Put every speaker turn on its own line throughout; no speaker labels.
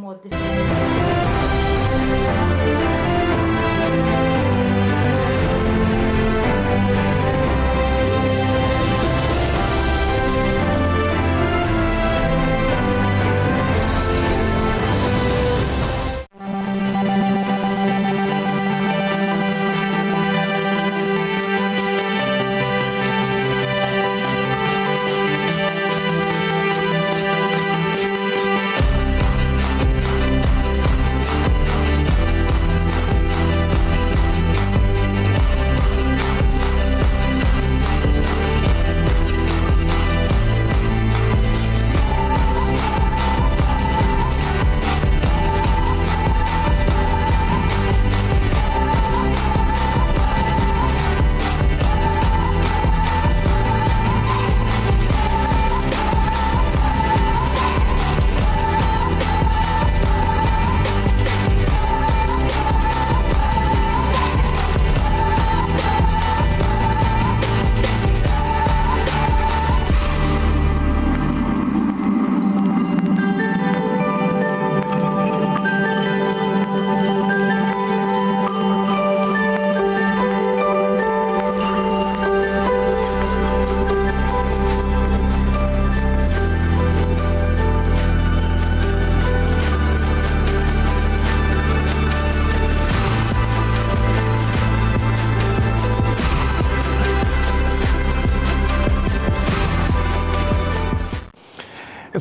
b'mod differenti.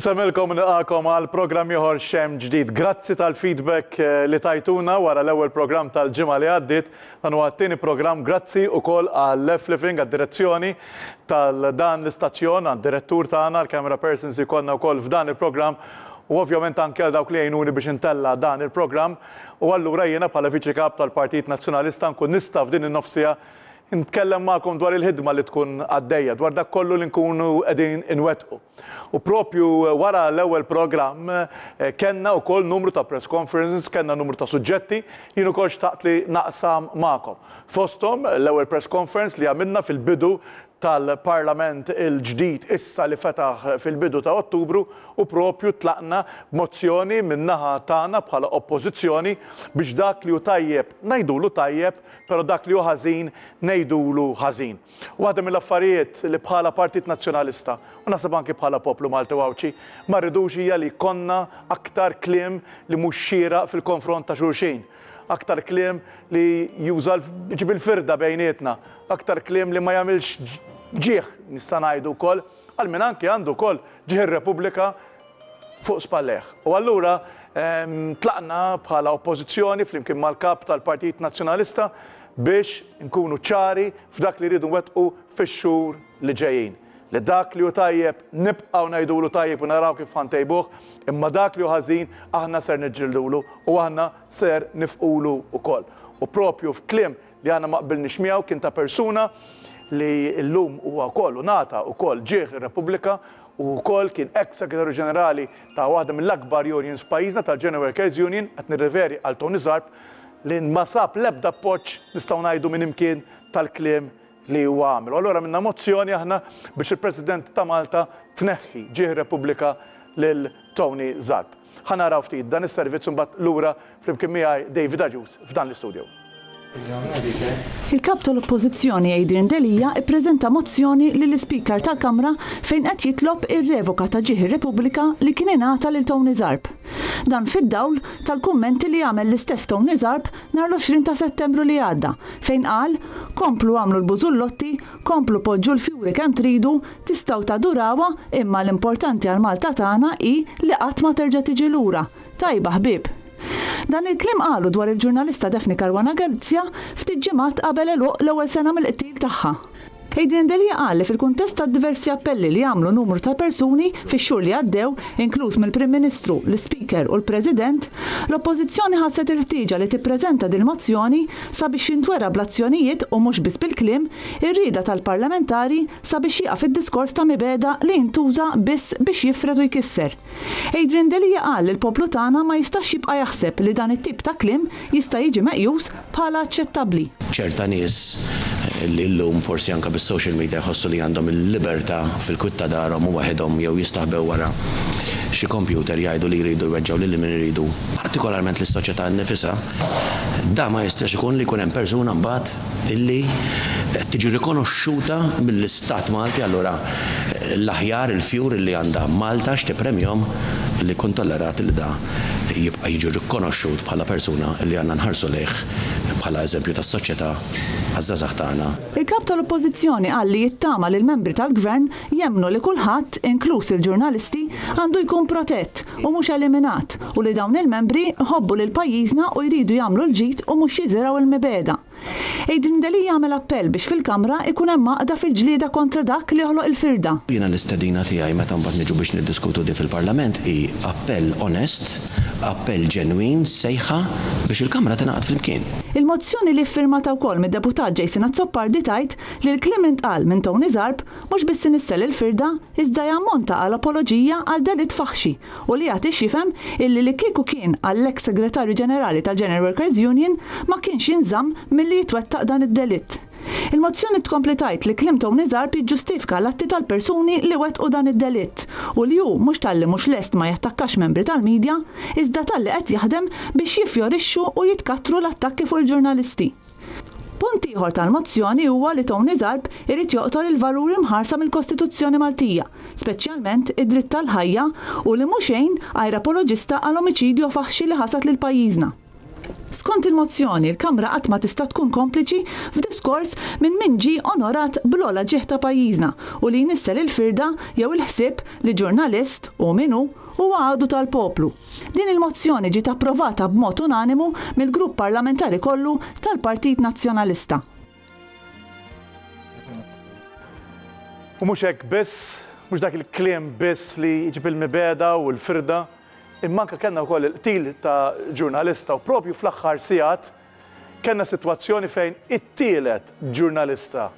Insemmilkom nilqakom għal programm ieħor xem ġdid. Grazzi tal-feedback eh, li tajtuna wara l-ewwel programm tal-ġimgħa li għaddiet. Dan huwa t-tieni programm grazzi wkoll għal Left Living għad-direzzjoni tal-dan l-istazzjon, għad-direttur tagħna, l-camera persons li konna wkoll f'dan il-programm u ovvjament anke għal dawk li jgħinuni biex intella dan il-programm. U allura jiena bħala Viċi Kap tal-Partit Nazzjonalista nkun nista' f'din in-nofsija nitkellem magħkom dwar il-ħidma li tkun għaddejja, dwar dak kollu li nkunu qegħdin inwettqu. U propju wara l-ewwel programm kellna wkoll numru ta' press conferences, kellna numru ta' suġġetti jien ukoll xtaqt li naqsam magħkom. Fosthom l-ewwel press conference li għamilna fil-bidu tal-Parlament il-ġdid issa li fetaħ fil-bidu ta' Ottubru u propju tlaqna b'mozzjoni min-naħa tagħna bħala Oppożizzjoni biex dak li hu tajjeb ngħidulu tajjeb, però dak li hu ħażin ngħidulu ħażin. Waħda mill-affarijiet li bħala Partit Nazzjonalista, u naħseb anki bħala poplu Malti u Għawdxi, ma rridux hija li jkollna aktar kliem li mhux xieraq fil-konfront ta' xulxin. Aktar kliem li juża jġib il-firda bejnietna, aktar kliem li ma jagħmilx ġieħ, nista' ngħidu wkoll, għal min anki għandu wkoll ġieħ ir-Repubblika fuq spallejh. U allura tlaqna bħala Oppożizzjoni flimkien mal-Kap tal-Partit Nazzjonalista biex nkunu ċari f'dak li rridu nwettqu fix-xhur li ġejjin. Li dak li hu tajjeb nibqgħu ngħidulu tajjeb u naraw kif ħa ntejbuh, imma dak li hu ħażin aħna ser niġġildulu u aħna ser nifqulu wkoll. U propju f'kliem li aħna ma qbilniex miegħu kien ta' persuna li llum huwa wkoll u ngħata wkoll ġieħ ir-Repubblika u wkoll kien eks Segretarju Ġenerali ta' waħda mill-akbar unions f'pajjiżna tal-General Workers Union, qed nirreferi għal Tony Zarb, li ma sab l-ebda appoġġ nistgħu ngħidu minn imkien tal-kliem li huwa għamel. U allura għamilna mozzjoni aħna biex il-President ta' Malta tneħħi ġieħ ir-Repubblika lil Tony Zarb. Ħa naraw ftit dan is-servizz u mbagħad lura flimkien miegħi David Agius f'dan l-istudio.
Il-Kap tal-Oppożizzjoni Adrian Delia ppreżenta mozzjoni lill-Ispeaker tal-Kamra fejn qed jitlob ir-revoka ta' Ġieħ ir-Repubblika li kien ingħata lil Tony Zarb. Dan fid-dawl tal-kummenti li għamel l-istess Tony Zarb nhar l-20 ta' Settembru li għadda fejn qal, Komplu agħmlu l-bużullotti, komplu poġġu l-fjuri kemm tridu, Tistgħu tadurawha, imma l-importanti għal Malta tagħna hi li qatt ma terġa' tiġi lura. Tajba ħbieb! Dan il-kliem qalu dwar il-ġurnalista Daphne Caruana Galizia ftit ġimgħat qabel għeluq l-ewwel sena mill-qtil tagħha. Adrian Delia qal li fil-kuntest tad-diversi appelli li għamlu numru ta' persuni fix-xhur li għaddew, inkluż mill-Prim Ministru, l-Ispeaker u l-President, l-Oppożizzjoni ħasset il-ħtieġa li tippreżenta din il-mozzjoni sabiex jintwera bl-azzjonijiet u mhux biss bil-kliem ir-rieda tal-parlamentari sabiex jieqaf id-diskors ta' mibegħda li jintuża biss biex jifred u jkisser. Adrian Delia qal li l-poplu tagħna ma jistax jibqa' jaħseb li dan it-tip ta' kliem jista' jiġi meqjus bħala aċċettabbli.
Ċerta nies li llum forsi anke bis-social media jħossu li għandhom il-libertà fil-kwiet ta' darhom u waħedhom jew jistaħbew wara. xi kompjuter jgħidu li jridu jweġġgħu lil min iridu, partikolarment lis-soċjetà nnifisha, da ma jistax ikun li jkun hemm persuna mbagħad illi qed tiġi rikonoxxuta mill-Istat Malti allura l-aħjar il-fjur illi għandha Malta x'tippremjhom illi jkun tollerat li da jibqa' jiġi rikonoxxut bħala persuna illi għandna nħarsu lejh bħala eżempju tas-soċjetà għaż-żgħażagħ tagħna.
Il-Kap tal-Oppożizzjoni qal li jittama li l-membri tal-Gvern jemmnu li kulħadd, inkluż il-ġurnalisti, għandu jkun protett u mhux eliminat u li dawn il-membri jħobbu lil pajjiżna u jridu jagħmlu l-ġid u mhux jiżirgħu l-mibegħda. Adrian Delia għamel appell biex fil-Kamra jkun hemm għaqda fil-ġlieda kontra dak li joħloq il-firda.
Jiena l-istedina tiegħi meta mbagħad niġu biex niddiskutu di fil-Parlament hi appell onest, appell ġenwin, sejħa biex il-Kamra tingħaqad flimkien.
Il-mozzjoni li ffirmata wkoll mid-Deputat Jason Azzopardi tgħid li l-kliem li ntqal minn Tony Zarb mhux biss inissel il-firda iżda jammonta għal apoloġija għal delitt faħxi u li jagħti x'jifhem illi li kieku kien għall-eks Segretarju Ġenerali tal-General Workers Union ma kienx jinżamm milli jitwettaq dan id-delitt. Il-mozzjoni tkompli tgħid li kliem Tony Zarb jiġġustifika l-atti tal-persuni li wettqu dan id-delitt u li hu mhux talli mhux lest ma jattakkax membri tal-media iżda talli qed jaħdem biex jiffjorixxu u jitkattru l-attakki fuq il-ġurnalisti. Punt ieħor tal-mozzjoni huwa li Tony Zarb irid joqtol il-valuri mħarsa mill-Kostituzzjoni Maltija, speċjalment id-dritt tal-ħajja u li mhu xejn għajr apoloġista għal omiċidju faħxi li ħasad lil pajjiżna. Skont il-mozzjoni, il-Kamra qatt ma tista' tkun kompliċi f'diskors minn min ġie onorat bl-ogħla ġieħ ta' pajjiżna u li jnissel il-firda jew il-ħsieb li ġurnalist, hu min hu, huwa għadu tal-poplu. Din il-mozzjoni ġiet approvata b'mod unanimu mill-grupp parlamentari kollu tal-Partit Nazzjonalista.
U mhux hekk biss, mhux dak il-kliem biss li jġib il-mibegħda u l-firda, imma anke kellna wkoll il-qtil ta' ġurnalista u propju fl-aħħar sigħat kellna sitwazzjoni fejn it-tielet ġurnalista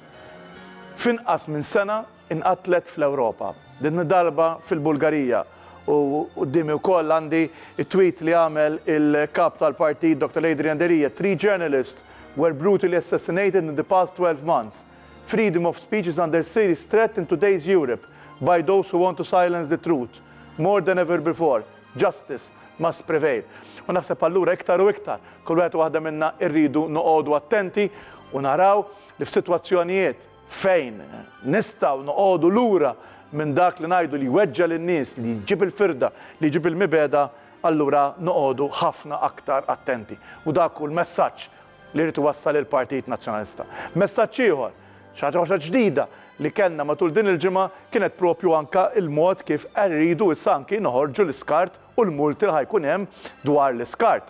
f'inqas minn sena inqatlet fl-Ewropa, din id-darba fil-Bulgarija. U quddiemi wkoll għandi t-tweet li għamel il-Kap tal-Partit Dr. Adrian Delia, Three journalists were brutally assassinated in the past 12 months. Freedom of speech is under serious threat in today's Europe by those who want to silence the truth. More than ever before, justice must prevail. U naħseb allura iktar u iktar, kull wieħed u waħda minna rridu noqogħdu attenti u naraw li f'sitwazzjonijiet fejn nistgħu noqogħdu lura minn dak li ngħidu li jweġġa' lin-nies, li jġib il-firda, li jġib il-mibegħda, allura noqogħdu ħafna aktar attenti. U dak hu l-messaġġ li jrid iwassal il-Partit Nazzjonalista. Messaġġ ieħor, xi ħaġa oħra ġdida li kellna matul din il-ġimgħa kienet propju anke l-mod kif rridu issa anki noħorġu l-iskart u l-multi li ħa jkun hemm dwar l-iskart.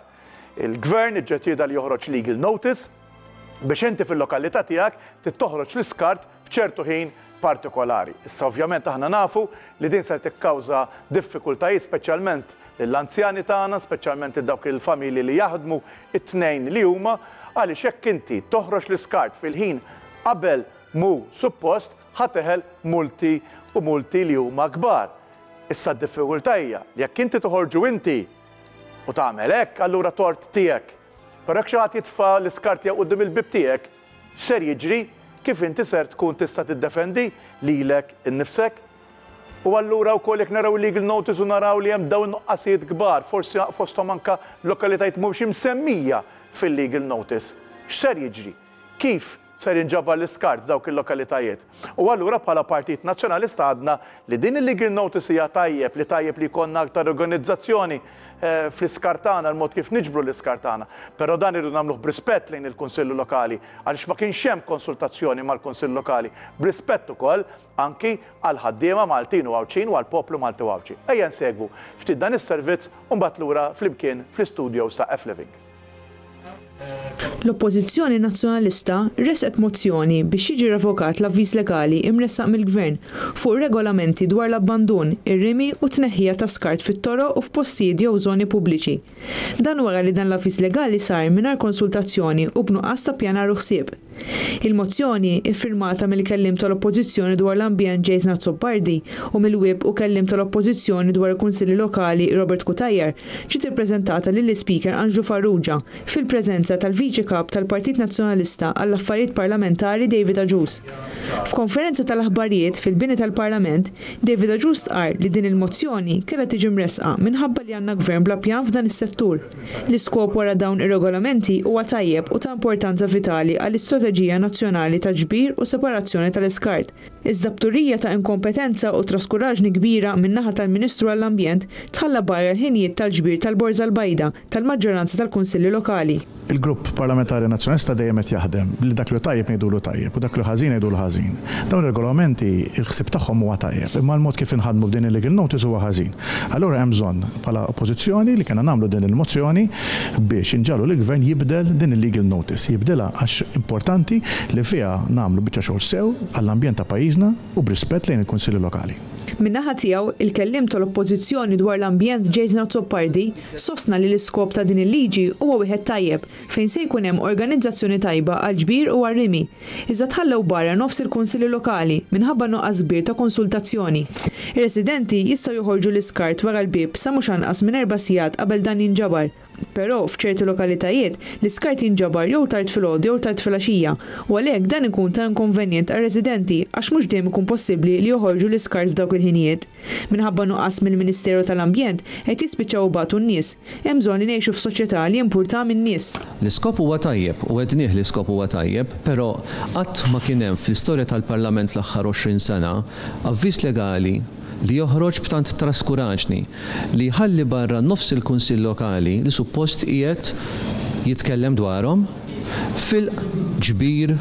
Il-Gvern iġġeċieda li joħroġ legal notice biex inti fil-lokalità tiegħek trid toħroġ l-iskart f'ċertu ħin partikolari. Issa ovvjament aħna nafu li din ser tikkawża diffikultajiet speċjalment lill-anzjani tagħna, speċjalment lil dawk il-familji li jaħdmu it-tnejn li huma, għaliex jekk inti toħroġ l-iskart fil-ħin qabel mhu suppost ħa teħel multi u multi li huma kbar. Issa d-diffikultà hija li jekk inti toħorġu inti u tagħmel hekk allura tort tiegħek. Però jekk xi ħadd jitfa' l-iskart tiegħu quddiem il-bieb tiegħek, x'ser jiġri? Kif inti ser tkun tista' tiddefendi lilek innifsek? U allura wkoll jekk naraw il-legal notice u naraw li hemm dawn in-nuqqasijiet kbar, forsi fosthom anke lokalitajiet mhumiex imsemmija fil-legal notice, x'ser jiġri? Kif ser jinġabar l-iskart f'dawk il-lokalitajiet. U allura bħala Partit Nazzjonalista għadna li din il-legal notice hija tajjeb, li tajjeb li jkollna aktar organizzazzjoni fl-iskart tagħna, l-mod kif niġbru l-iskart tagħna. Però dan irridu nagħmluh b'rispett lejn il-Kunsilli Lokali, għaliex ma kienx hemm konsultazzjoni mal-Kunsill Lokali, b'rispett ukoll anki għall-ħaddiema Maltin u Għawdxin u għall-poplu Malti u Għawdxi. Ejja nsegwu ftit dan is-servizz u mbagħad lura flimkien fl-istudios ta' F-Living.
L-Oppożizzjoni Nazzjonalista ressqet mozzjoni biex jiġi revokat l-avviż legali imressaq mill-Gvern fuq regolamenti dwar l-abbandun, ir-rimi u t-tneħħija ta' skart fit-toroq u f'postijiet jew żoni pubbliċi. Dan wara li dan l-avviż legali sar mingħajr konsultazzjoni u b'nuqqas ta' ppjanar u ħsieb. Il-mozzjoni, iffirmata mill-Kelliem tal-Oppożizzjoni dwar l-Ambjent Jason Azzopardi u mill-Whip u Kelliem tal-Oppożizzjoni dwar il-Kunsilli Lokali Robert Cutajar, ġiet ippreżentata lill-Ispeaker Anġlu Farrugia fil-preżenza tal-Viċi. Kap tal-Partit Nazzjonalista għall-Affarijiet Parlamentari David Agius. F'konferenza tal-aħbarijiet fil-bini tal-Parlament, David Agius stqarr li din il-mozzjoni kellha tiġi mressqa minħabba li għandna Gvern bla pjan f'dan is-settur. L-iskop wara dawn ir-regolamenti huwa tajjeb u ta' importanza vitali għall-istrateġija nazzjonali ta' ġbir u separazzjoni tal-iskart, iżda b'turija ta' inkompetenza u traskuraġni kbira min-naħa tal-Ministru għall-Ambjent tħalla barra l-ħinijiet tal-ġbir tal-borża l-bajda tal-maġġoranza tal-Kunsilli Lokali.
Il-Grupp Parlamentari Nazzjonalista dejjem qed jaħdem li dak li hu tajjeb ngħidulu tajjeb u dak li hu ħażin ngħidulu ħażin. Dawn ir-regolamenti il-ħsieb tagħhom huwa tajjeb, imma l-mod kif inħadmu f'din il-legal notice huwa ħażin. Allura hemm bżonn bħala Oppożizzjoni li kellna nagħmlu din il-mozzjoni biex inġagħlu lill-Gvern jibdel din il-legal notice. Jibdilha għax importanti li fiha nagħmlu biċċa xogħol sew għall-ambjent ta' pajjiżna u b'rispett lejn il-Kunsilli Lokali.
Min-naħa tiegħu, il-kelliem tal-Oppożizzjoni dwar l-ambjent Jason Azzopardi sostna li l-iskop ta' din il-liġi huwa wieħed tajjeb fejn se jkun hemm organizzazzjoni tajba għall-ġbir u għar-rimi, iżda tħallew barra nofs il-kunsilli lokali minħabba nuqqas kbir ta' konsultazzjoni. Ir-residenti jistgħu joħorġu l-iskart wara l-bieb sa mhux anqas minn erba' sigħat qabel dan jinġabar. Però, f'ċerti lokalitajiet, l-iskart jinġabar jew tard filgħodu jew tard filgħaxija, u għalhekk dan ikun ta' inkonvenjent għar-residenti għax mhux dejjem ikun possibbli li joħorġu l-iskart f'dawk il-ħinijiet. Minħabba nuqqas mill-Ministeru tal-Ambjent, qed jispiċċaw ibatu n-nies. Hemm bżonn li ngħixu f'soċjetà li jimpurtha min-nies.
L-iskop huwa tajjeb, u għednieh l-iskop huwa tajjeb, però qatt ma kien hemm fl-istorja tal-Parlament fl-aħħar 20 sena avviż legali li joħroġ b'tant traskuraġni li jħalli barra nofs il-Kunsill Lokali li suppost qiegħed jitkellem dwarhom fil-ġbir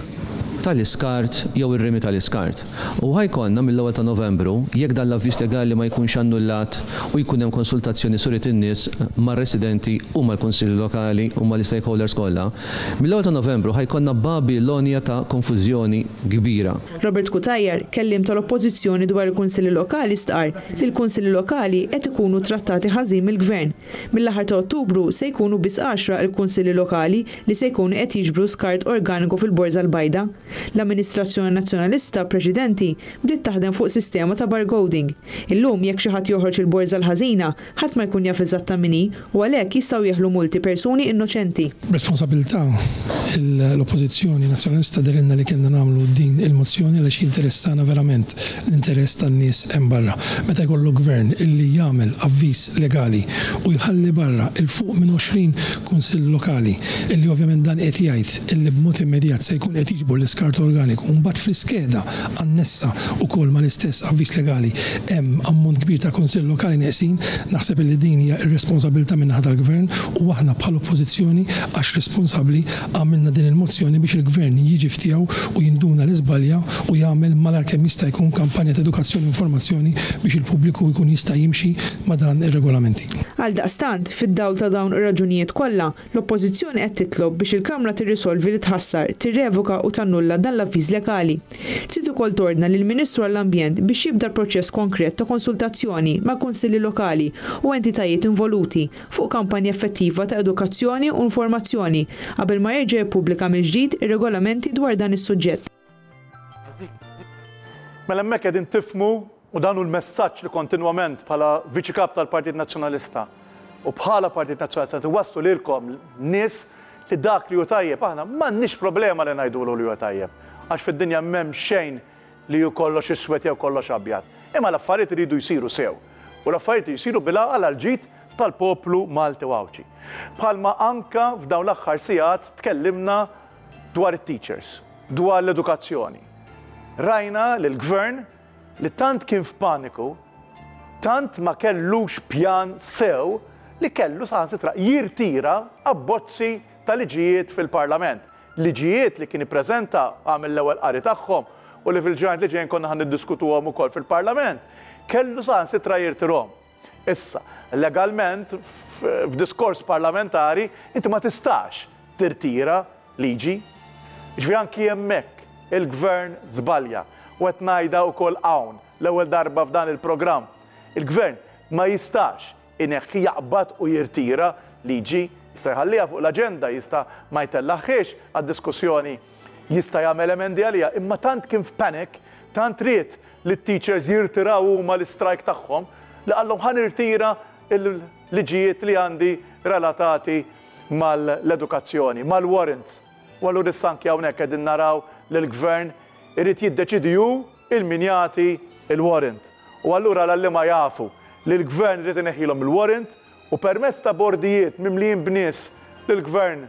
tal-iskart jew ir-rimi tal-iskart. U ħa jkollna mill-ewwel ta' Novembru, jekk dan l-avviż legali ma jkunx annullat u jkun hemm konsultazzjoni suriet in-nies mar-residenti u mal-Kunsilli Lokali u mal-istakeholders kollha, mill-ewwel ta' Novembru ħa jkollna Babilonja ta' konfużjoni kbira.
Robert Cutajar, kelliem tal-Oppożizzjoni dwar il-Kunsilli Lokali stqarr li l-Kunsilli Lokali qed ikunu trattati ħażin mill-Gvern. Mill-aħħar ta' Ottubru se jkunu biss għaxra l-Kunsilli Lokali li se jkunu qed jiġbru skart organiku fil-Borża l-Bajda. L-amministrazzjoni Nazzjonalista preċedenti bdiet taħdem fuq sistema ta' barcoding. Illum jekk xi ħadd joħroġ il-borża l-ħażina, ħadd ma jkun jaf eżatta min hi u għalhekk jistgħu jeħlu multi persuni innoċenti.
B'responsabilità, l-Oppożizzjoni Nazzjonalista dehrilna li kellna nagħmlu din il-mozzjoni għaliex jinteressana verament l-interess tan-nies hemm barra. Meta jkollok Gvern illi jagħmel avviż legali u jħalli barra 'l fuq minn 20 Kunsill Lokali illi ovvjament dan qed jgħid illi b'mod immedjat se jkun qed jiġbor l-iskart organiku u mbagħad fl-iskeda annessa wkoll mal-istess avviż legali hemm ammont kbir ta' Kunsill Lokali neqsin, naħseb illi din hija irresponsabilità min-naħa tal-Gvern u aħna bħala Oppożizzjoni għax responsabbli għamilna din il-mozzjoni biex il-Gvern jiġi f'tiegħu u jinduna li żbalja u jagħmel malajr kemm jista' jkun kampanja ta' edukazzjoni u informazzjoni biex il-pubbliku jkun jista' jimxi ma' dan ir-regolamenti.
Għaldaqstant, fid-dawl ta' dawn ir-raġunijiet kollha, L-Oppożizzjoni qed titlob biex il-Kamra tirrisolvi li tħassar, tirrevoka u tannulla dan l-avviż legali. Trid ukoll tordna lill-Ministru għall-Ambjent biex jibda l-proċess konkret ta' konsultazzjoni mal-Kunsilli Lokali u entitajiet involuti fuq kampanja effettiva ta' edukazzjoni u informazzjoni qabel ma jerġa' jippubblika mill-ġdid ir-regolamenti dwar dan is-suġġett.
Mela hemmhekk qegħdin tifhmu U dan hu l-messaġġ li kontinwament bħala Viċi Kap tal-Partit Nazzjonalista u bħala Partit Nazzjonalista qed iwasslu lilkom nies li dak li hu tajjeb aħna m'għandniex problema li ngħidulu li huwa tajjeb. Għax fid-dinja m'hemm xejn li hu kollox iswed jew kollox abjad. Imma l-affarijiet iridu jsiru sew. U l-affarijiet iridu jsiru bil-għaqal għall-ġid tal-poplu Malti u Għawdxi. Bħalma anka f'dawn l-aħħar sigħat tkellimna dwar it-teachers, dwar l-edukazzjoni. Rajna li l-Gvern li tant kien f'paniku, tant ma kellux pjan sew li kellu saħansitra jirtira abbozzi ta' liġijiet fil-Parlament. Liġijiet li kien ippreżenta, għamel l-ewwel qari tagħhom u li fil-ġranet li ġejjin konna ħa niddiskutuhom ukoll fil-Parlament, kellu saħansitra jirtirhom. Issa, legalment, f'diskors parlamentari, inti ma tistax tirtira liġi. Jiġifieri anki hemmhekk il-Gvern żbalja. U qed ngħidha wkoll hawn, l-ewwel darba f'dan il-programm. Il-Gvern ma jistax ineħħi, jaqbad u jirtira liġi. Jista' jħalliha fuq l-aġenda, jista' ma jtellagħhiex għad-diskussjoni, jista' jagħmel emendi għaliha, imma tant kien f'panic, tant ried li t-teachers jirtiraw huma l-istrajk tagħhom, li qallhom ħa nirtira l-liġijiet li għandi relatati mal-edukazzjoni, mal-warrants. U allura issa anki hawnhekk qegħdin naraw li l-Gvern irid jiddeċiedi hu 'il min jagħti l-warrant. U allura l-għalliema jafu li l-Gvern irid ineħħilhom il-warrant u permezz ta' bordijiet mimlijin b'nies li l-Gvern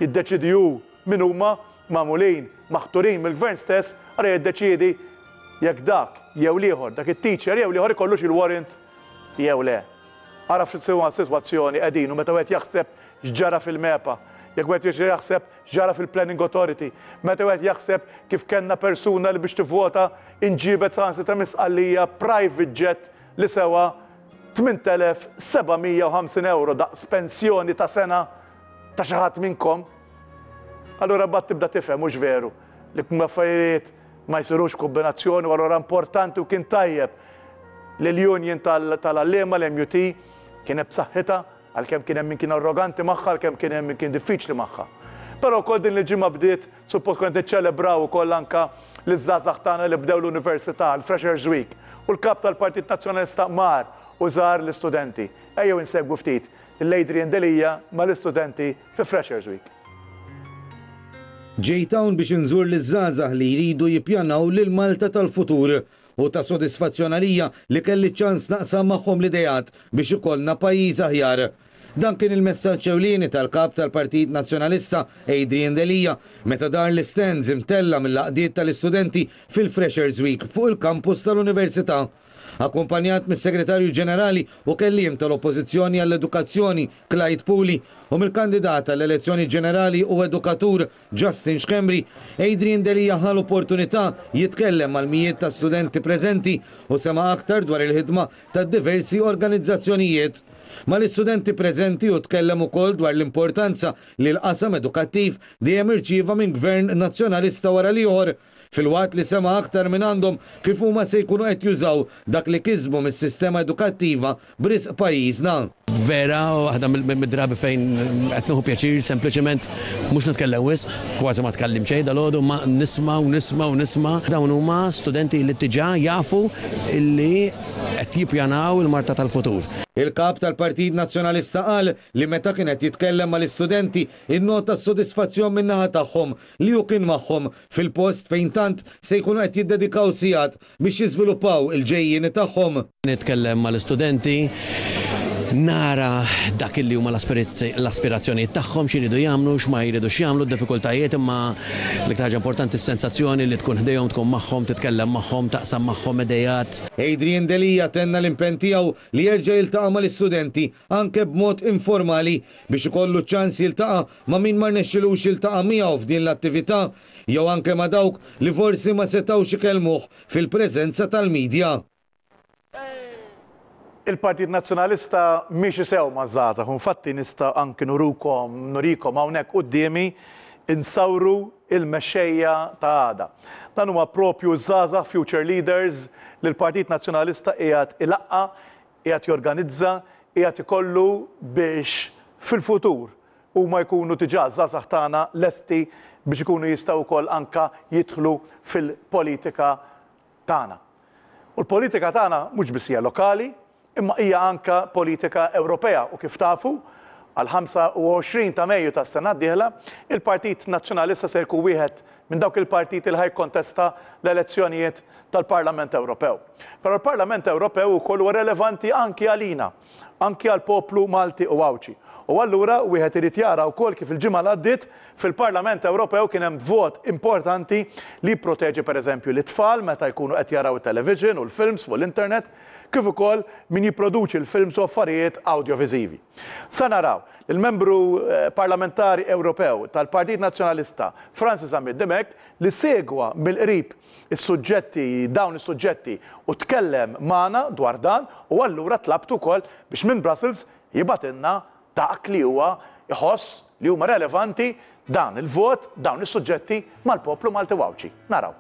jiddeċiedi hu min huma, magħmulin, maħturin mill-Gvern stess, allura jiddeċiedi jekk dak jew l-ieħor, dak it-teacher jew l-ieħor ikollux il-warrant jew le. Ara f'liema sitwazzjoni qegħdin u meta wieħed jaħseb x'ġara fil-MEPA, jekk wieħed jerġa' jaħseb x'ġara fil-Planning Authority, meta wieħed jaħseb kif kellna persuna li biex tivvota inġiebet saħansitra minn Sqallija private jet li sewa 8,750 ewro daqs pensjoni ta' sena ta' xi ħadd minnkom, allura mbagħad tibda tifhem hux veru li affarijiet ma jsirux kombinazzjoni u allura importanti u kien tajjeb li l-union tal-għalliema l-MUT kienet b'saħħitha għalkemm kien hemm min kien arroganti magħha għalkemm kien hemm min kien diffiċli magħha. Però wkoll din il-ġimgħa bdiet suppost kont niċċelebraw ukoll anka liż-żgħażagħ tagħna li bdew l-università, l-Freshers Week, u l-Kap tal-Partit Nazzjonalista mar u żar l-istudenti. Ejjew insegwu ftit lil Adrian Delia mal-istudenti fi Freshers Week.
Ġejt hawn biex inżur liż-żgħażagħ li jridu jippjanaw lil Malta tal-futur. Hu ta' sodisfazzjon għalija li kelli ċ-ċans naqsam magħhom l-ideat biex ikollna pajjiż aħjar. Dan kien il-messaġġ ewlieni tal-Kap tal-Partit Nazzjonalista Adrian Delia meta dar l-istands imtella' mill-għaqdiet tal-istudenti fil-Freshers Week fuq il-kampus tal-Università. Akkumpanjat mis-Segretarju Ġenerali u Kelliem tal-Oppożizzjoni għall-Edukazzjoni Clyde Puli u mill-kandidat għall-elezzjoni ġenerali u edukatur Justin Schembri, Adrian Delia ħa l-opportunità jitkellem mal-mijiet ta' studenti preżenti u sema' aktar dwar il-ħidma ta' diversi organizzazzjonijiet. Mal-istudenti preżenti hu tkellem ukoll dwar l-importanza li l-qasam edukattiv dejjem irċieva minn Gvern Nazzjonalista wara l-ieħor, filwaqt li sema' aktar mingħandhom kif huma se jkunu qed jużaw dak li kisbu mis-sistema edukattiva b'risq pajjiżna.
Vera, waħda mid-drabi fejn qed nieħu pjaċir sempliċement mhux nitkellem wisq, kważi ma tkellimt xejn dalgħodu, imma nisma' u nisma' u nisma'. Dawn huma studenti li diġà jafu li qed jippjanaw il-Malta tal-futur.
Il-Kap tal-Partit Nazzjonalista qal li meta kien qed jitkellem mal-istudenti innota s-sodisfazzjon min-naħa tagħhom li hu kien magħhom fil-post fejn tant se jkunu qed jiddedikaw sigħat biex jiżviluppaw il-ġejjieni tagħhom.
Nitkellem mal-istudenti, nara dak li huma l-aspirazzjonijiet tagħhom, x'iridu jagħmlu, x'ma jridux jagħmlu, d-diffikultajiet, imma l-iktar ħaġa importanti s-sensazzjoni li tkun ħdejhom, tkun magħhom, titkellem magħhom, taqsam magħhom ideat.
Adrian Delia tenna l-impenn tiegħu li jerġa' jiltaqa' mal-istudenti anke b'mod informali biex ikollu ċ-ċans jiltaqa' ma' min ma rnexxilux jiltaqa' miegħu f'din l-attività jew anke ma' dawk li forsi ma setgħux ikellmuh fil-preżenza tal-media.
Il-Partit Nazzjonalista miexi sew maż-żgħażagħ u infatti nista' anki nurukom, nurikom hawnhekk quddiemi insawru il-mexxejja ta' għada. Dan huma propju ż-żgħażagħ future leaders li l-Partit Nazzjonalista qiegħed ilaqqa', qiegħed jorganizza, qiegħed ikollu biex fil-futur huma jkunu diġà ż-żgħażagħ tagħna lesti biex ikunu jistgħu wkoll anke jidħlu fil-politika tagħna. U l-politika tagħna mhux biss hija lokali, imma hija anke politika Ewropea u kif tafu, għall-25 ta' Mejju tas-sena d-dieħla, il-Partit Nazzjonalista se jkun wieħed minn dawk il-partiti li ħa jikkontesta l-elezzjonijiet tal-Parlament Ewropew. Però l-Parlament Ewropew ukoll huwa relevanti anki għalina, anki għall-poplu Malti u Għawdxi. U allura wieħed irid jara wkoll kif il-ġimgħa li għaddiet fil-Parlament Ewropew kien hemm vot importanti li jipproteġi pereżempju lit-tfal meta jkunu qed jaraw it-television u l-films fuq l-internet, kif ukoll min jipproduċi l-films u affarijiet awdjoviżivi. Sa naraw lill-Membru Parlamentari Ewropew tal-Partit Nazzjonalista Francis Zammit Dimech li segwa mill-qrib is-suġġetti dawn is-suġġetti u tkellem magħna dwar dan u allura tlabtu wkoll biex minn Brussels jibgħatilna dak li huwa jħoss li huma relevanti dan il-vot, dawn is-suġġetti mal-poplu Malti u Għawdxi. Naraw.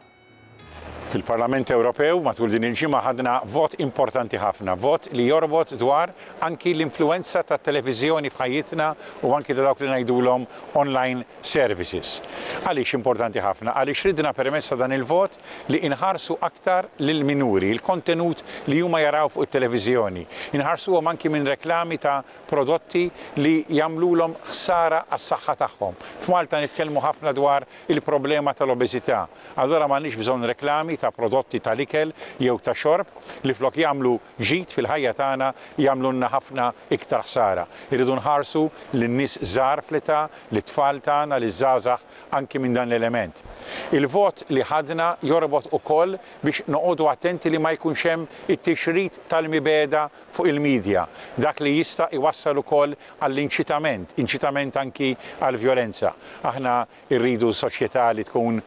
Fil-Parlament Ewropew matul din il-ġimgħa ħadna vot importanti ħafna, vot li jorbot dwar anki l-influwenza tat-televiżjoni f'ħajjitna u anki ta' dawk li ngħidulhom online services. Għaliex importanti ħafna? Għaliex ridna permezz ta' dan il-vot li inħarsu aktar lill-minuri, il-kontenut li huma jaraw fuq it-televiżjoni. Inħarsuhom anki minn reklami ta' prodotti li jagħmlulhom ħsara għas-saħħa tagħhom. F'Malta nitkellmu ħafna dwar il-problema tal-obeżità. Allura m'għandniex bżonn reklami ta' prodotti tal-ikel jew ta' xorb li flok jagħmlu ġid fil-ħajja tagħna jagħmlulna ħafna iktar ħsara. Irridu nħarsu lin-nies żgħar fl-età, lit-tfal tagħna, liż-żgħażagħ anki minn dan l-element. Il-vot li ħadna jorbot ukoll biex noqogħdu attenti li ma jkunx hemm it-tixrid tal-mibegħda fuq il-media, dak li jista' jwassal ukoll għall-inċitament, inċitament anki għall-vjolenza. Aħna rridu soċjetà li tkun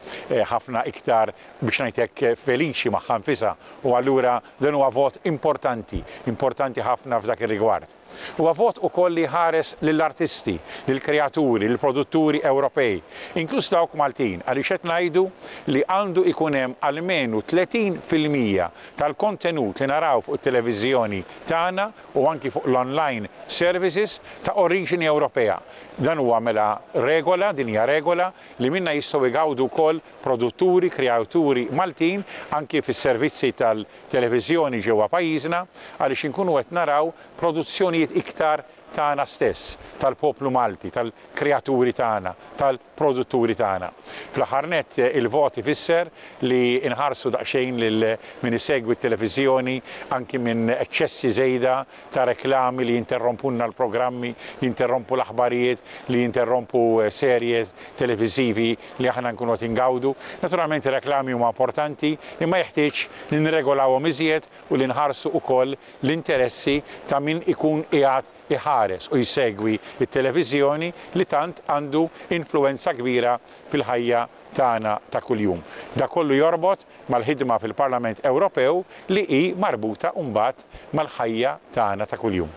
ħafna iktar, biex ngħid hekk, feliċi magħha nfisha u allura dan huwa vot importanti, importanti ħafna f'dak ir-rigward. Huwa vot ukoll li jħares lill-artisti, lill-kreaturi, lill-produtturi Ewropej, inkluż dawk Maltin, għaliex qed ngħidu li għandu jkun hemm almenu 30% tal-kontenut li naraw fuq it-televiżjoni tagħna u anki fuq l-online services ta' oriġini Ewropea. Dan huwa mela regola, din hija regola li minnha jistgħu jgawdu wkoll produtturi, kreaturi Maltin anki fis-servizzi tal-televiżjoni ġewwa pajjiżna għaliex inkunu qed naraw produzzjonijiet iktar tagħna stess, tal-poplu Malti, tal-kreaturi tagħna, tal-produtturi tagħna. Fl-aħħar nett il-vot ifisser li nħarsu daqsxejn lil min isegwi t-televiżjoni anki minn eċċessi żejda ta' reklami li jinterrompulna l-programmi, jinterrompu l-aħbarijiet, li jinterrompu serje televiżivi li aħna nkunu qed ingawdu. Naturalment ir-reklami huma importanti imma jeħtieġ li nirregolawhom iżjed u li nħarsu wkoll l-interessi ta' min ikun qiegħed iħares u jsegwi t-televiżjoni li tant għandu influwenza kbira fil-ħajja tagħna ta' kuljum. Dak kollu jorbot mal-ħidma fil-Parlament Ewropew li hi marbuta mbagħad mal-ħajja tagħna ta' kuljum.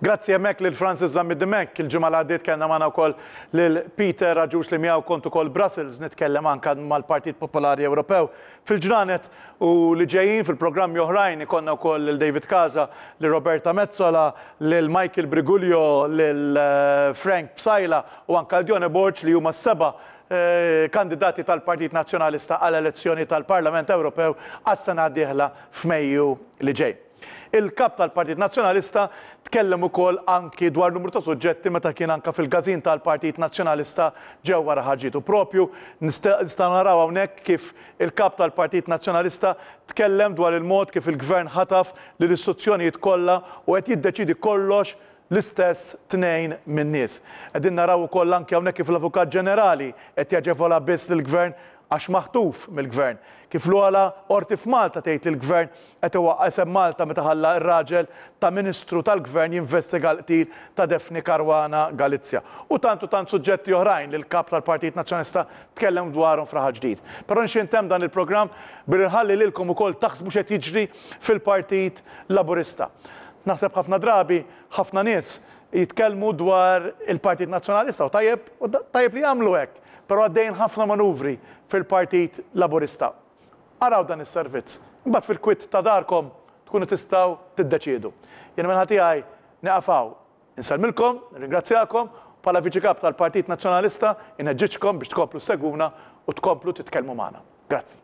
Grazzi hemmhekk lil Francis Zammit Dimech. Il-ġimgħa li għaddiet kellna magħna wkoll lil Peter Agius li miegħu kont ukoll Brussels nitkellem anke mal-Partit Popolari Ewropew. Fil-ġranet u li ġejjin fil-programmi oħrajn ikollna wkoll lil David Casa, lil Roberta Metsola, lil Michael Briguglio, lil Frank Psaila u anke lil Dione Borg li huma s-seba' kandidati tal-Partit Nazzjonalista għall-elezzjoni tal-Parlament Ewropew għas-sena d-dieħla f'Mejju li ġej. Il-Kap tal-Partit Nazzjonalista tkellem ukoll anki dwar numru ta' suġġetti meta kien anka fil-każin tal-Partit Nazzjonalista ġewwa Raħal Ġdid. U propju nistgħu naraw hawnhekk kif il-Kap tal-Partit Nazzjonalista tkellem dwar il-mod kif il-Gvern ħataf lill-istituzzjonijiet kollha u qed jiddeċiedi kollox l-istess tnejn min-nies. Qegħdin naraw ukoll anki hawnhekk kif l-Avukat Ġenerali qed jaġevola biss lill-Gvern għax maħtuf mill-Gvern. Kif l-ogħla Qorti f'Malta tgħid li l-Gvern qed iwaqqa' isem Malta meta ħalla r-raġel ta' Ministru tal-Gvern jinvestiga l-qtil ta' Daphne Caruana Galizia. U tant u tant suġġetti oħrajn li l-Kap tal-Partit Nazzjonalista tkellem dwarhom f'Raħal Ġdid. Però nixtieq intemm dan il-programm billi nħalli lilkom ukoll taħsbu x'qed jiġri fil-Partit Laburista. Naħseb ħafna drabi ħafna nies jitkellmu dwar il-Partit Nazzjonalista u tajjeb u tajjeb li jagħmlu hekk, però għaddejjin ħafna manuvri fil-Partit Laburista. Araw dan is-servizz. Imbagħad fil-kwiet ta' darkom tkunu tistgħu tiddeċiedu. Jien min-naħa tiegħi nieqaf hawn. Insellmilkom, nirringrazzjakom, u bħala Viċi Kap tal-Partit Nazzjonalista inħeġġiġkom biex tkomplu ssegwuna u tkomplu titkellmu magħna. Grazzi.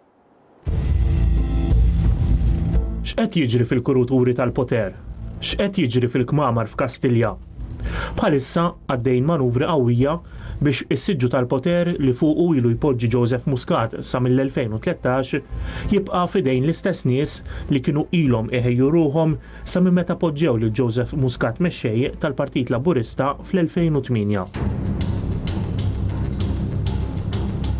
X'qed jiġri fil-kuruturi tal-poter? X'qed jiġri fil-kmamar f'Kastilja? Bħalissa għaddejjin manuvri qawwija biex is-siġġu tal-poter li fuqu ilu jpoġġi Joseph Muscat sa mill-2013 jibqa' f'idejn l-istess nies li kienu ilhom iħejju ruħhom sa minn meta poġġew lil Joseph Muscat mexxej tal-Partit Laburista fl-2008.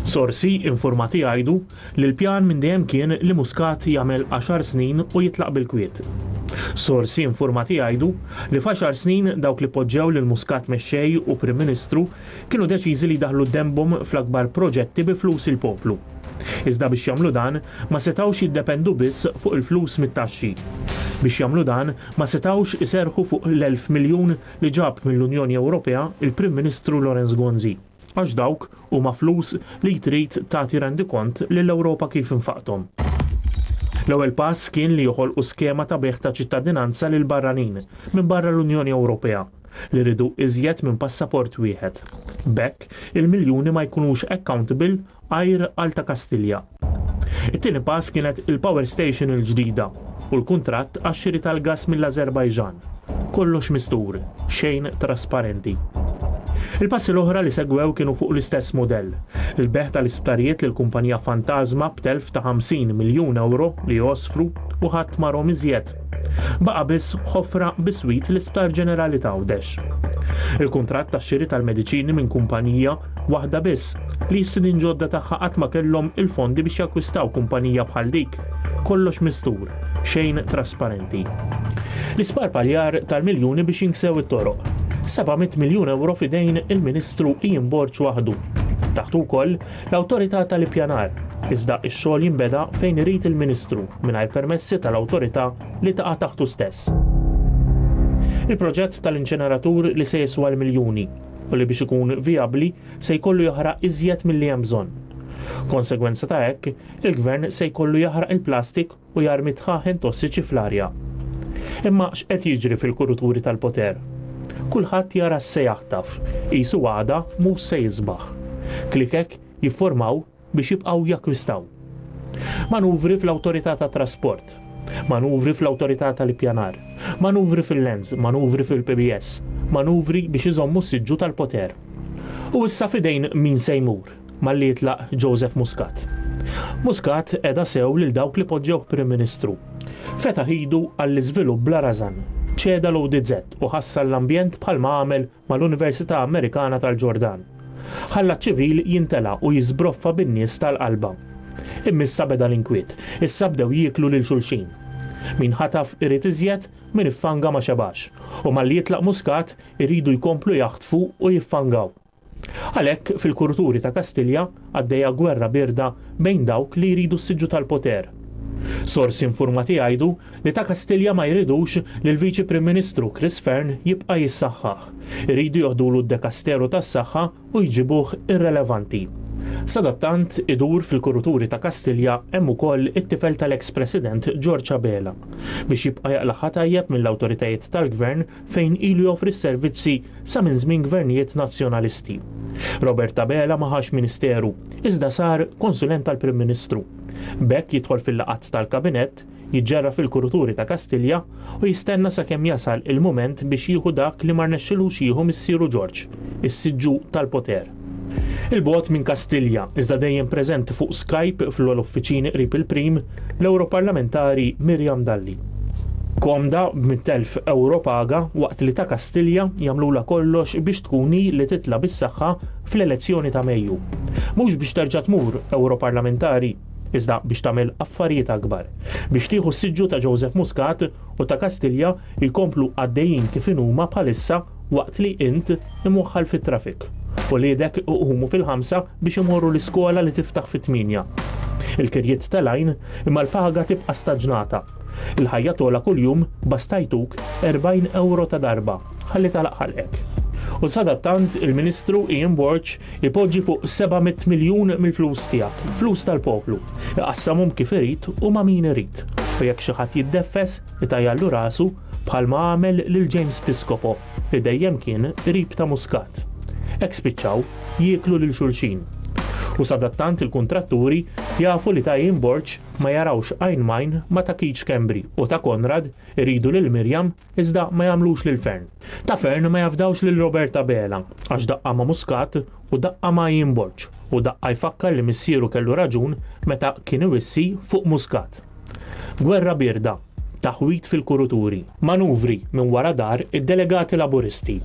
Sorsi infurmati jgħidu li l-pjan minn dejjem kien li Muscat jagħmel għaxar snin u jitlaq bil-kwiet. Sorsi infurmati jgħidu li f'għaxar snin dawk li poġġew lil Muscat mexxej u Prim Ministru kienu deċiżi li jdaħħlu denbhom fl-akbar proġetti bi flus il-poplu. Iżda biex jagħmlu dan ma setgħux jiddependu biss fuq il-flus mit-taxxi. Biex jagħmlu dan ma setgħux iserrħu fuq l-1,000 miljun li ġab mill-Unjoni Ewropea il-Prim Ministru Lawrence Gonzi. Għax dawk huma flus li trid tagħti rendikont lill-Ewropa kif infaqthom. L-ewwel pass kien li joħolqu skema ta' bejgħ ta' ċittadinanza lil barranin minn barra l-Unjoni Ewropea li riedu iżjed minn passaport wieħed. B'hekk, il-miljuni ma jkunux accountable għajr għal ta' Kastilja. It-tieni pass kienet il-power station il-ġdida u l-kuntratt għax-xiri tal-gass mill-Ażerbajġan. Kollox mistur, xejn trasparenti. Il-passi l-oħra li segwew kienu fuq l-istess mudell. Il-bejgħ tal-isptarijiet lil kumpanija fantażma b'telf ta' 50 miljun ewro li għosfru u ħadd ma rahom iżjed. Baqa' biss ħofra biswit l-Isptar Ġenerali t'Għawdex. Il-kuntratt tax-xiri tal-mediċini minn kumpanija waħda biss, li s-sidien ġodda tagħha qatt ma kellhom il-fondi biex jakkwistaw kumpanija bħal dik. Kollox mistur, xejn trasparenti. L-isparpaljar tal-miljuni biex jinksew it-toroq. 700 miljun ewro f'idejn il-Ministru Ian Borg waħdu. Taħtu wkoll l-Awtorità tal-Ippjanar, iżda x-xogħol jinbeda fejn irid il-Ministru mingħajr permessi tal-awtorità li taqa' taħtu stess. Il-proġett tal-inċeneratur li se jiswa l-miljuni u li biex ikun vijabbli se jkollu jaħraq iżjed milli hemm bżonn. Konsegwenza ta' hekk, il-Gvern se jkollu jaħraq il-plastik u jarmi dħaħen tossiċi fl-arja. Imma x'qed jiġri fil-kuruturi tal-poter? Kulħadd jara x'se jaħtaf, qisu għada mhux se jisbaħ. Klikek jifformaw biex jibqgħu jakkwistaw. Manuvri fl-Awtorità tat-Trasport, manuvri fl-Awtorità tal-Ippjanar, manuvri fil-Lands, manuvri fil-PBS, manuvri biex iżommu s-siġġu tal-poter. U issa f'idejn min se jmur malli jitlaq Joseph Muscat? Muscat qeda sew lil dawk li poġġewh Prim Ministru. Fetaħ idu għall-iżvilupp bla rażan, ċeda l-ODZ u ħassar l-ambjent bħalma għamel mal-Università Amerikana tal-Ġordan. Ħalla ċ-ċivil jintela' u jiżbroffa bin-nies tal-qalba. Imma issa beda l-inkwiet. Issa bdew jieklu lil xulxin. Min ħataf irid iżjed, min iffanga ma xebax. U malli jitlaq Muscat, iridu jkomplu jaħtfu u jiffangaw. Għalhekk, fil-kuruturi ta' Kastilja għaddejja gwerra bierda bejn dawk li jridu s-siġġu tal-poter. Sorsi infurmati jgħidu li ta' Kastilja ma jridux li l-Viċi Prim Ministru Chris Fearne jibqa' jissaħħaħ. Iridu joħdulu d-dekasteru tas-saħħa u jġibuh irrelevanti. Sadattant, idur fil-kuruturi ta' Kastilja hemm ukoll it-tifel tal-eks President George Abela biex jibqa' jaqlagħha tajjeb mill-awtoritajiet tal-Gvern fejn ilu joffri s-servizzi sa minn żmien gvernijiet Nazzjonalisti. Robert Abela ma ħax ministeru, iżda sar konsulent tal-Prim Ministru. B'hekk jidħol fil-laqgħat tal-Kabinett, jiġġerra fil-kuruturi ta' Kastilja u jistenna sakemm jasal il-mument biex jieħu dak li ma rnexxilux jieħu missieru Ġorġ, is-siġġu tal-poter. 'il bogħod minn Kastilja, iżda dejjem preżenti fuq Skype fl-ogħla uffiċini qrib il-Prim, l-Ewroparlamentari Miriam Dalli. Komda b'100,000 ewro paga waqt li ta' Kastilja jagħmlulha kollox biex tkun hi li titla' bis-saħħa fl-elezzjoni ta' Mejju. Mhux biex terġa' tmur Ewroparlamentari, iżda biex tagħmel affarijiet akbar. Biex tieħu s-siġġu ta' Joseph Muscat u ta' Kastilja jkomplu għaddejjin kif inhuma bħalissa waqt li int imwaħħal fit-traffic. Uliedek iqumu fil-ħamsa biex imorru l-iskola li tiftaħ fit-tmienja. Il-kirjiet telgħin imma l-paga tibqa' staġnata. Il-ħajja togħla kuljum basta jtuk 40 ewro ta' darba ħalli tagħlaq ħalqek. U sadattant il-Ministru Ian Borg ipoġġi fuq 700 miljun mill-flus tiegħek, flus tal-poplu, iqassamhom kif irid u ma' min irid. U jekk xi ħadd jiddeffes, itajjarlu rasu bħalma għamel lil James Piscopo li dejjem kien qrib ta' Muscat. Hekk spiċċaw jieklu lil xulxin. U sadattant il-kuntratturi jafu li ta' Ian Borg ma jarawx għajn m'għajn ma' ta' Keith Schembri u ta' Konrad iridu lil Miriam iżda ma jagħmlux lil Fearne. Ta' Fearne ma jafdawx lil Robert Abela għax daqqa ma' Muscat u daqqa ma' Ian Borg u daqqa jfakkar li missieru kellu raġun meta kien iwissi fuq Muscat. Gwerra bierda, taħwid fil-kuruturi, manuvri minn wara dar id-delegati Laburisti.